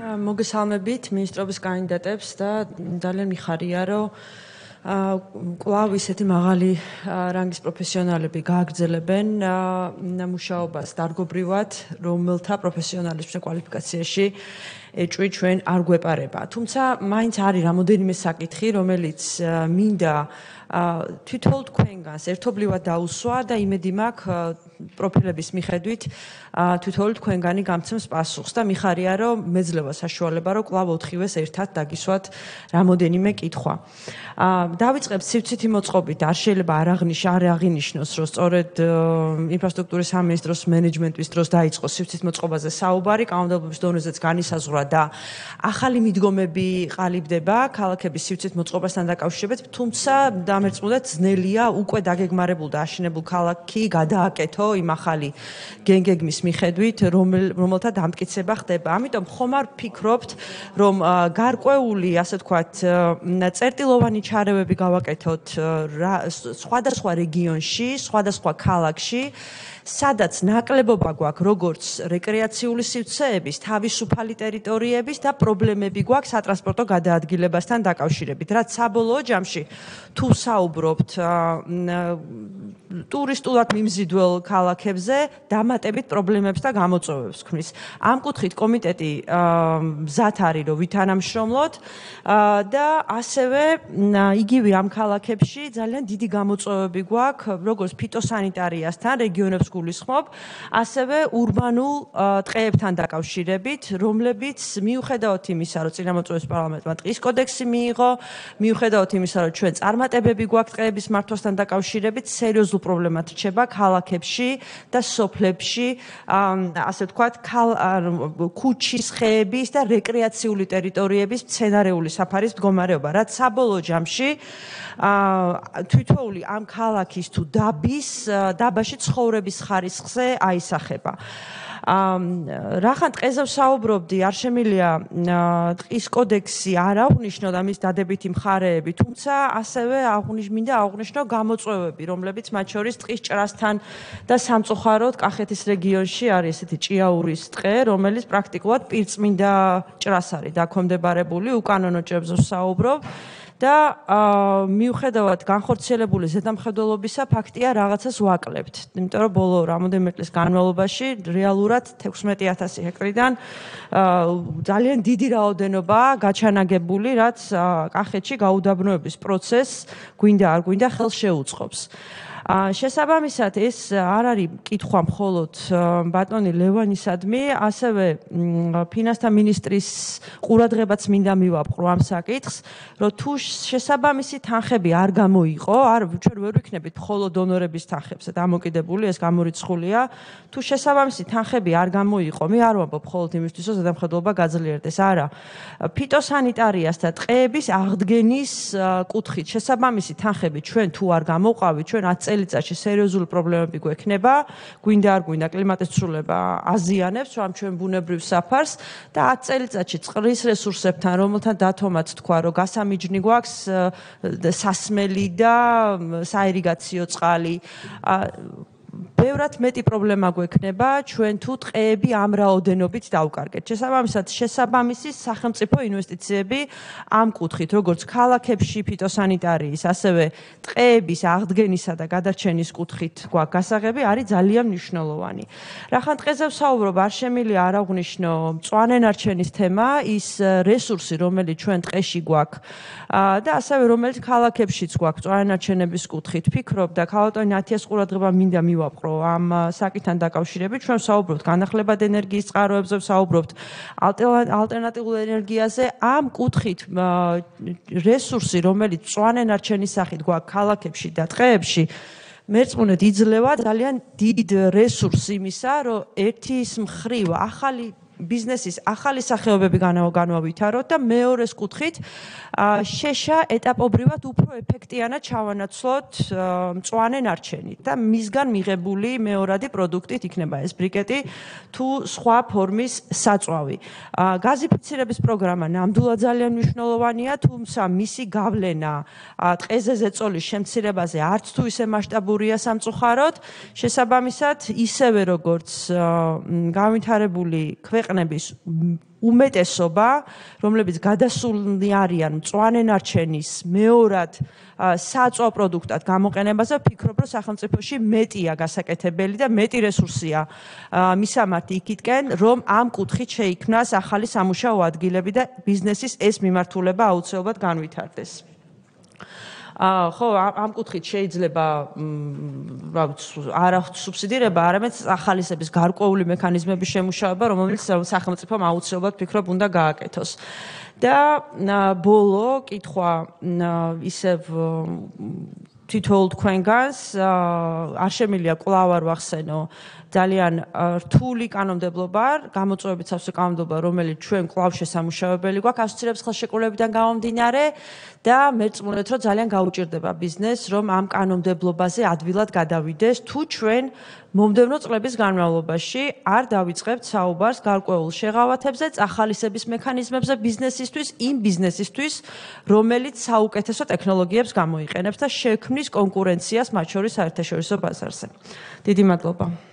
მოგესალმებით მინისტრობის კანდიდატებს და ძალიან მიხარია, რომ კვლავ ისეთი მაღალი რანგის პროფესიონალები გააგრძელებენ მუშაობას დარგობრივად, რომელთა პროფესიონალიზმის კვალიფიკაციაში ეჭვი ჩვენ არ გვეპარება. თუმცა მაინც არის რამოდენიმე საკითხი, რომელიც მინდა თვითონ თქვენგანს ერთობლივად დაუსვა და იმედი მაქვს პროფილების მიხედვით თვითონ თქვენგანი გამცემს პასუხს და მიხარია, რომ მეძლევა საშუალება, რომ კვლავ 4-ვეს ერთად დაგისვათ რამოდენიმე კითხვა. დავიწყებთ სივრცითი მოწყობით, არ შეიძლება არ აღინიშნოს, რომ სწორედ ინფრასტრუქტურის სამინისტროს მენეჯმენტის დროს დაიწყო სივრცით მოწყობაზე საუბარი, კანონმდებლობის დონეზეც განისაზღვრა და ახალი მიდგომები ყალიბდება ქალაქების სივრცით მოწყობასთან დაკავშირებით, თუმცა დამერწმუნდეთ ძნელია უკვე დაგეგმარებულ და აშენებულ ქალაქი გადააკეთო იმ ახალი გენგეგმის მიხედვით, რომელთა დამტკიცება ხდება. ამიტომ ხომ არ ფიქრობთ, რომ გარკვეული, ასე ვთქვათ, წერტილოვანი ჩარევები გავაკეთოთ სხვადასხვა რეგიონში, სხვადასხვა ქალაქში, სადაც ნაკლებობა გვაქვს როგორც რეკრეაციული სივრცეების, თავისუფალი ტერიტორიების და პრობლემები გვაქვს სატრანსპორტო გადაადგილებასთან დაკავშირებით. რაც საბოლოო ჯამში თუ საუბრობთ ტურისტულად მიმზიდველ ქალაქებზე, დამატებით პრობლემებს და გამოწვევებს ქმნის. ამ კუთხით კომიტეტი მზად არის, რომ ვითანამშრომლოთ და ასევე იგივე ამ ქალაქებში ძალიან დიდი გამოწვევები გვაქვს, როგორც ფიტოსანიტარიასთან, რეგიონებს გულისხმობ, ასევე ურბანულ ტყეებთან დაკავშირებით, რომლებიც მიუხედავად იმისა, რომ წინამორბედის პარლამენტმა ტყის კოდექსი მიიღო, მიუხედავად იმისა, რომ ჩვენ წარმატებები გვაქვს ტყეების მართვასთან დაკავშირებით, სერიოზულ პრობლემად რჩება ქალაქებში და სოფლებში, ასე ვთქვათ, ქუჩის, ხეების და რეკრეაციული ტერიტორიების მცენარეული საფარის მდგომარეობა, რაც საბოლოო ჯამში თითოეული ამ ქალაქის თუ დაბაში ცხოვრების ხარისხზე აისახება. რახან ტყეზე ვსაუბრობდი, არ შემიძლია ტყის კოდექსი არ აღვნიშნო და მის დადებითი მხარეები, თუმცა ასევე მინდა აღვნიშნო გამოწვევები, რომლებიც მათ შორის ტყის ჭრასთან და სამწუხაროდ კახეთის რეგიონში არის ესეთი ჭიაურის ტყე, რომელიც პრაქტიკულად პირწმინდა ჭრას არის დაქვემდებარებული, უკანონო ჭრებზე ვსაუბრობ. და მიუხედავად განხორციელებული ზედამხედველობისა ფაქტია რაღაცას ვაკლებთ. იმიტომ რომ ბოლო რამოდენიმე წლის განმავლობაში რეალურად 16,000 ჰექტარიდან ძალიან დიდი რაოდენობა გაჩანაგებული, რაც კახეთში გაუდაბნოების პროცესს გვინდა არ გვინდა ხელს შეუწყობს. შესაბამისად ეს არ არის კითხვა მხოლოდ ბატონი ლევანისადმი, ასევე ფინანსთა მინისტრის ყურადღებაც მინდა მივაპყრო ამ საკითხს, რომ თუ შესაბამისი თანხები არ გამოიყო, ჩვენ ვერ ვიქნებით მხოლოდ დონორების თანხებზე დამოკიდებული, ეს გამორიცხულია, თუ შესაბამისი თანხები არ გამოიყო, მე არ ვამბობ მხოლოდ იმისთვის, რომ ზედამხედველობა გაძლიერდეს, არა. ფიტოსანიტარიას და ტყეების აღდგენის კუთხით შესაბამისი თანხები ჩვენ თუ არ გამოვყავით, ჩვენ 10 წელიწადში სერიოზული პრობლემები გვექნება, გვინდა არ გვინდა კლიმატის ცვლილება აზიანებს ამ ჩვენ ბუნებრივ საფარს და 10 წელიწადში წყლის რესურსებთან, რომელთან დათომაც თქვა, რომ გასამიჯნი გვაქვს სასმელი და საირიგაციო წყალი. ბევრად მეტი პრობლემა გვექნება ჩვენ თუ ტყეები ამ რაოდენობით დავკარგეთ. შესაბამისი სახელმწიფო ინვესტიციები ამ კუთხით, როგორც ქალაქებში ფიტოსანიტარიის, ასევე ტყეების აღდგენისა და გადარჩენის კუთხით გვაქვს გასაღები, არის ძალიან მნიშვნელოვანი. რახან ტყეზე ვსაუბრობ, არ შემიძლია არ აღვნიშნო მწვანე ნარჩენის თემა, ის რესურსი, რომელიც ჩვენ ტყეში გვაქვს და ასევე რომელიც ქალაქებშიც გვაქვს მწვანე ნარჩენების კუთხით. ფიქრობ და ქალბატონი ნათიას ყურადღება მინდა მივაპყრო ამ საკითხთან დაკავშირებით, ჩვენ ვსაუბრობთ განახლებად ენერგიის წყაროებზე, ვსაუბრობთ ალტერნატიულ ენერგიაზე, ამ კუთხით რესურსი, რომელიც მწვანე ნარჩენის სახით გვაქვს ქალაქებში და ტყეებში, მერწმუნედ იძლევა ძალიან დიდ რესურსს იმისა, რომ ერთის მხრივ ახალი ბიზნესის ახალი სახეობები განვავითაროთ და მეორეს კუთხით შეშა ეტაპობრივად უფრო ეფექტიანად ჩავანაცვლოთ მწვანე ნარჩენით და მისგან მიღებული მეორადი პროდუქტით იქნება ეს ბრიკეტი თუ სხვა ფორმის საწვავი. გაზიფიცირების პროგრამა ნამდვილად ძალიან მნიშვნელოვანია, თუმცა მისი გავლენა ტყეზე ზეწოლის შემცირებაზე არც თუ ისე მასშტაბურია სამწუხაროდ, შესაბამისად ისევე როგორც განვითარებული ქვეყნების უმეტესობა, რომლებიც გადასულნი არიან მწვანე ნარჩენის მეორად საწვავ პროდუქტად გამოყენებაზე, ვფიქრობ, რომ სახელმწიფოში მეტია გასაკეთებელი და მეტი რესურსია მისამართი იქითკენ, რომ ამ კუთხით შეიქმნას ახალი სამუშაო ადგილები და ბიზნესის ეს მიმართულება აუცილებლად განვითარდეს. ხო, ამ კუთხით შეიძლება არა სუბსიდირება, არამედ ახალისების გარკვეული მექანიზმების შემუშავება, რომელიც სახელმწიფომ აუცილებლად ვფიქრობ უნდა გააკეთოს. და ბოლო კითხვა ისევ თითოეულ თქვენგანს არ შემიძლია კვლავ არ ვახსენო ძალიან რთული კანონმდებლობა, გამოწვევებით სავსე კანონმდებლობა, რომელიც ჩვენ კვლავ შესამუშავებელი გვაქვს ასოცირების ხელშეკრულებიდან გამომდინარე და მერწმუნეთ, რომ ძალიან გაუჭირდება ბიზნესს, რომ ამ კანონმდებლობაზე ადვილად გადავიდეს, თუ ჩვენ მომდევნო წლების განმავლობაში არ დავიწყებთ საუბარს გარკვეულ შეღავათებზე, წახალისების მექანიზმებზე ბიზნესისთვის, იმ ბიზნესისთვის, რომელიც საუკეთესო ტექნოლოგიებს გამოიყენებს და შექმნის კონკურენციას მათ შორის საერთაშორისო ბაზარზე. დიდი მადლობა.